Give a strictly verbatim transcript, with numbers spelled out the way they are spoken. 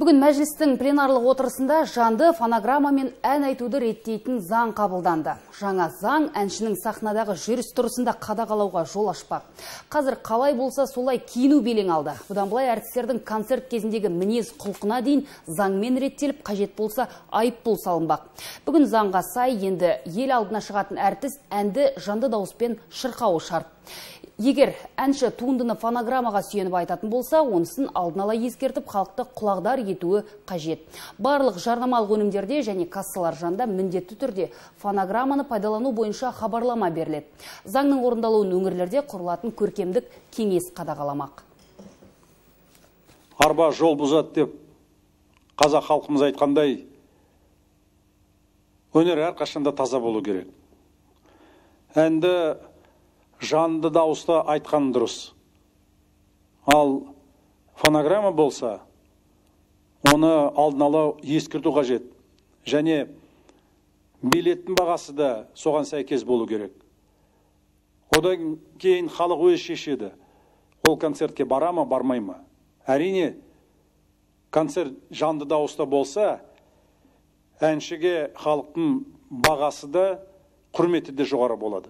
Бүгін мәжілістің пленарлық отырысында жанды фонограмма мен ән айтуды реттейтін заң қабылданды. Жаңа заң әншінің сахнадағы жүріс-тұрысында қадағалауға жол ашпақ. Қазір қалай болса солай киіну белең алды. Бұдан былай әртістердің концерт кезіндегі мінез құлқына дейін заңмен реттеліп, қажет болса айыппұл салынбақ. Бүгін заңға сай енді ел алдына шығатын әртіс әнді жанды дауыспен шырқауы шарт. Егер әнші туындыны фонограммаға сүйеніп айтатын болса, онысын алдын ала ескертіп, халықты құлағдар етуі қажет. Барлық жарнамалық өнімдерде және кассалар жанында міндетті түрде фонограмманы пайдалану бойынша хабарлама беріледі. Заңның орындалуын өңірлерде құрылатын көркемдік кеңес қадағаламақ. Арба жол бұзады деп қазақ халқымыз айтқандай, өнер әрқашанда таза болу керек. Әнді жанды дауыста айтқан дұрыс. Ал фонограмма болса, оны алдын ала ескерту қажет. Және билеттің бағасы да соған сәйкес болу керек. Одан кейін халық өз шешеді. Ол концертке бара ма, бармай ма? Әрине, концерт жанды дауыста болса, әншіге халықтың бағасы да, құрметі де жоғары болады.